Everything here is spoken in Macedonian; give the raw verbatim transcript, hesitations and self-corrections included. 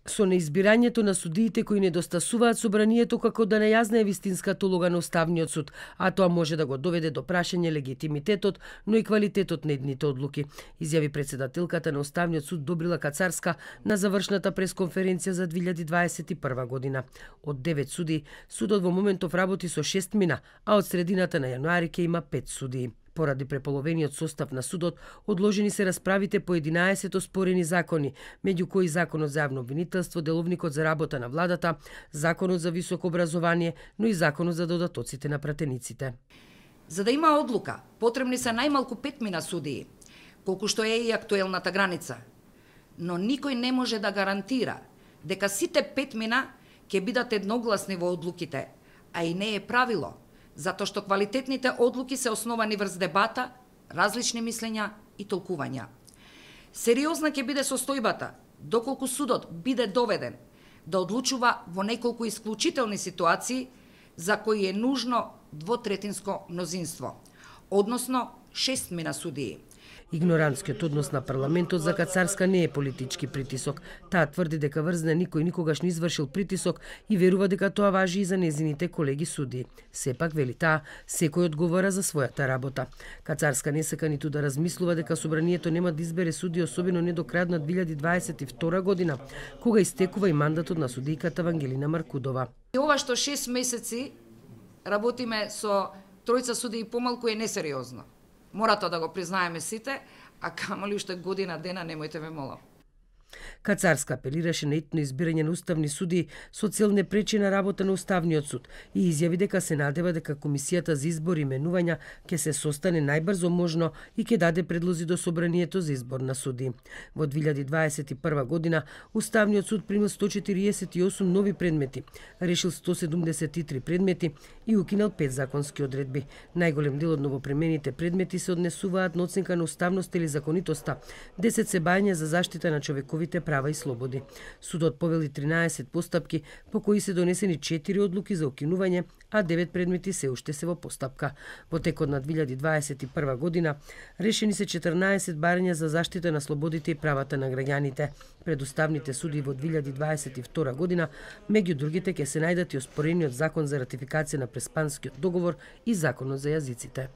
Со неизбирањето на судиите кои недостасуваат собранието како да не јазне вистинската улога на Уставниот суд, а тоа може да го доведе до прашање легитимитетот, но и квалитетот на едните одлуки, изјави председателката на Уставниот суд Добрила Кацарска на завршната пресконференција за две илјади дваесет и прва година. Од девет суди, судот во моментов работи со шест мина, а од средината на јануари ќе има пет судии. Поради преполовениот состав на судот, одложени се расправите по единаесет оспорени закони, меѓу кои Законот за јавно обвинителство, Деловникот за работа на владата, Законот за високо образование, но и Законот за додатоците на пратениците. За да има одлука, потребни се најмалку пет мина судии, колку што е и актуелната граница. Но никој не може да гарантира дека сите пет мина ќе бидат едногласни во одлуките, а и не е правило, затоа што квалитетните одлуки се основани врз дебата, различни мислења и толкувања. Сериозна ќе биде состојбата, доколку судот биде доведен да одлучува во неколку исклучителни ситуации за кои е нужно двотретинско мнозинство, односно шест мина судии. Игнорантскиот однос на парламентот за Кацарска не е политички притисок. Таа тврди дека врзна никој никогаш не извршил притисок и верува дека тоа важи и за незините колеги судии. Сепак, вели таа, секој одговара за својата работа. Кацарска не сака ниту да размислува дека собранието нема да избере судии, особено не до крајот на две илјади дваесет и втора година, кога истекува и мандатот на судијката Вангелина Маркудова. И ова што шест месеци работиме со тројца судии помалку е несериозно. Мора тоа да го признаеме сите, а камоли уште година дена, немојте ме молам. Кацарска апелираше на итно избирање на уставни судии со цел не пречи на работа на Уставниот суд и изјави дека се надева дека Комисијата за избор и именувања ќе се состане најбрзо можно и ќе даде предлози до собранието за избор на судии. Во две илјади дваесет и прва година Уставниот суд примил сто четириесет и осум нови предмети, решил сто седумдесет и три предмети и укинал пет законски одредби. Најголем дел од новопремените предмети се однесуваат на оценка на уставност или законитоста, десет се бања за заштита на човековите права и слободи. Судот повели тринаесет постапки по кои се донесени четири одлуки за укинување, а девет предмети се уште се во постапка. Во текот на две илјади дваесет и прва година решени се четрнаесет барања за заштита на слободите и правата на граѓаните. Пред уставните суди во две илјади дваесет и втора година, меѓу другите ќе се најдат и оспорениот закон за ратификација на Преспанскиот договор и законот за јазиците.